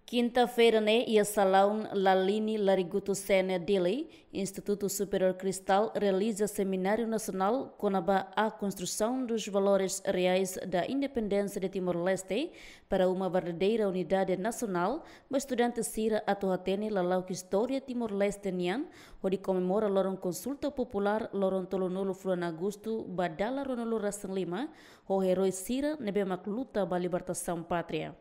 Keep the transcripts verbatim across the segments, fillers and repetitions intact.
Kinta-feira ne'e, iha salaun Lalini Larigutu Sene, Dili, Instituto Superior Cristal realiza seminário nacional kona-ba a construção dos valores reais da independência de Timor-Leste para uma verdadeira unidade nacional, ba estudante sira atu hatene lala'ok istória Timor-Leste nian, hodi komemora loron konsulta populár loron tolunulu fulan Agostu ba dala ruanulu-resin-lima, ho eroi sira ne'ebé mak luta ba libertasaun pátria.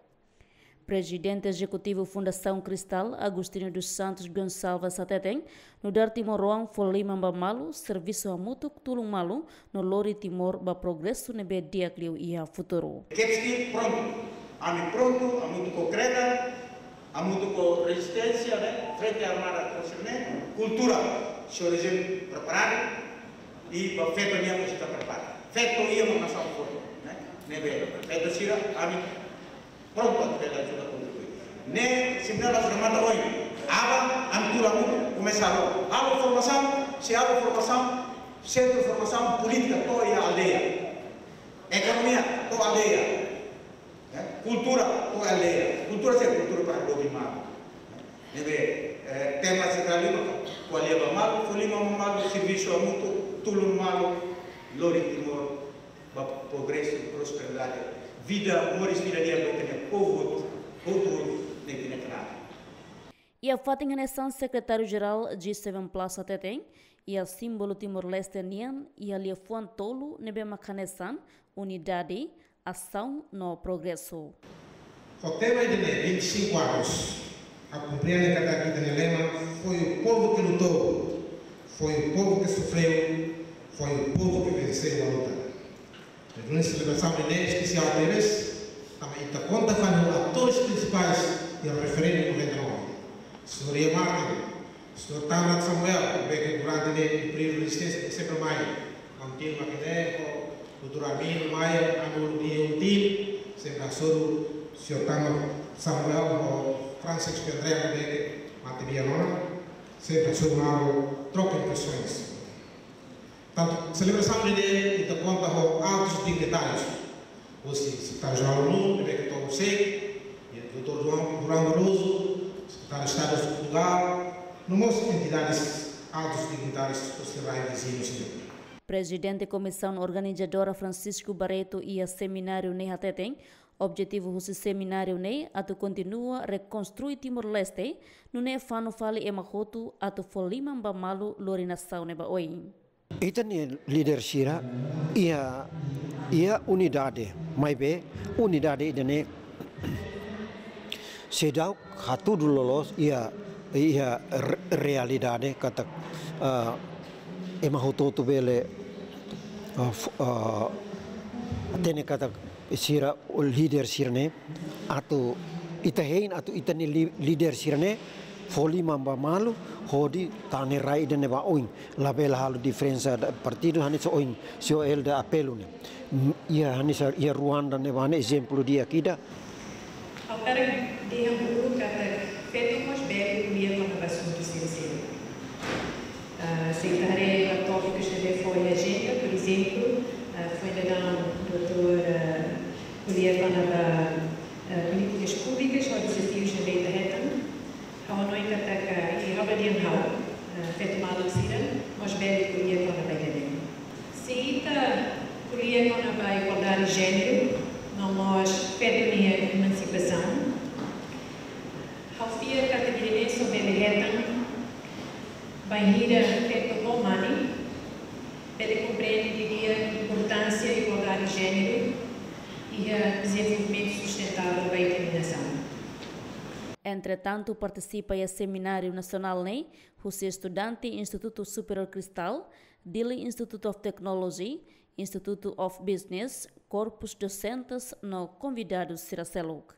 Prezidente Ezekutivu Fundasaun Cristal, Agostinho dos Santos Gonçalves hateten, nu'udar timoroan fó liman ba malu, servisu hamutuk tulun malu, no lori Timor ba progresu ne'ebé di'ak liu iha futuru. Kepski prontu, ami prontu, hamutuk ho Kreda, hamutuk ho rezisténsia, ne'e, Frente Armada, konsellu ne'e, kultura, sira rejim preparadu, i ba feto nian mós ita prepara. Feto iha mak nasaun forte, ne'e? Ne'ebé, feto sira, ami prontu atu bele ajuda kontribui. Ne'e, semináriu la remata ohin. Aban, ami tuur hamutuk, komesa halo. Halo formasaun, sei halo formasaun, sentru formasaun polítika to'o iha aldeia. Ekonomia, to'o aldeia. Eh, kultura, to'o aldeia. Kultura sei kultura para domi malu. Ne'ebé, eh, tema sentrál lima, ko'alia ba malu, fó liman ba malu, servisu hamutuk, tulun malu, lori Timor ba progresu, prosperidade, vida, moris vida di'ak ba ita-nia povu hotu, hotu, hotu, ne'e ita-nia knaar. Iha fatin hanesan, Sekretáriu-Jerál G seven Plus hateten, iha símbolu Timor-Leste nian, iha liafuan tolu ne'ebé mak hanesan, unidade, asaun no progresu. Ho tema ida-ne'e, vinte e cinco anos, ha'u komprende katak ita-nia lema, foi o povo que lutou, foi o povo que sofreu, foi o povo que venceu a luta. Entaun, selebrasaun ida-ne'e espesiál tebes, tanba ita konta fali ho atores prinsipais iha referendu noventa e nove. Señór Ian Martin, señór Tamrat Samuel, ne'ebé ke durante ne'e períodu rezisténsia sempre mai, kontinua ke ne'e, ho doutór Armindo Maia, ami uluk nia uluk tim, sempre hasoru señór Tamrat Samuel ho Francisco André, ne'ebé ke mate bianona, sempre hasoru malu troka impresoens. Tantu selebrasaun ida-ne'e, ita konta ho altus dignitárius. Hosi Sekretáriu-Jerál ONU, ne'ebé ke to'o sé, i doutór Durão, Durão Barroso, Sekretáriu Estadu Portugál, no mós entidades, altus dignitárius hosi rai viziñu sira. Prezidente Komisaun Organizadora Francisco Barreto iha semináriu ne'e hateten, objetivu husi semináriu ne'e atu kontinua rekonstrui Timor-Leste, nune'e fanu fali ema hotu atu fó liman ba malu lori nasaun ne'e ba oin. Ita-nia líder sira iha, iha unidade, maibé unidade ida-ne'e seidauk hatudu loloos iha, iha re-, realidade katak, ah, ema hotu-hotu bele, ah, f-, ah, hatene katak sira, líder sira-ne'e, atu ita hein, atu ita-nia li-, líder sira-ne'e fó liman ba malu, hodi tane rai ida-ne'e ba oin. Labele halo diferensa da partidu, hanesan ohin señór Helder apelu ne'e. Iha hanesan iha Ruanda ne'ebá ne'e ezemplu di'ak ida. Ha'u hakarak dehan uluk katak feto mós bele ko'alia kona-ba asuntu sira seluk. Ah, se ita haree ba tópikus ne'ebé fó iha ajenda, por ezemplu, ah, foin daudaun doutór, ah, ko'alia kona-ba, ah, polítikas públikas hodi dezafius ne'ebé ita hetan. Ha'u hanoin katak, i ha'u dehan ha'u, eh, feto maluk sira mós bele ko'alia kona-ba ida-ne'e. Se ita ko'alia kona-ba igualdade jéneru, no mós feto nia emansipasaun, ha'u fiar katak ida-ne'e só bele hetan bainhira feto ho mane bele komprende didi'ak importánsia igualdade jéneru iha dezenvolvimentu sustentável ba ita-nia nasaun. Entretantu, partisipa iha semináriu nasionál ne'e husi estudante Instituto Superior Cristal, Dili Institute of Technology, Institute of Business, korpus dosentes no konvidadu sira seluk.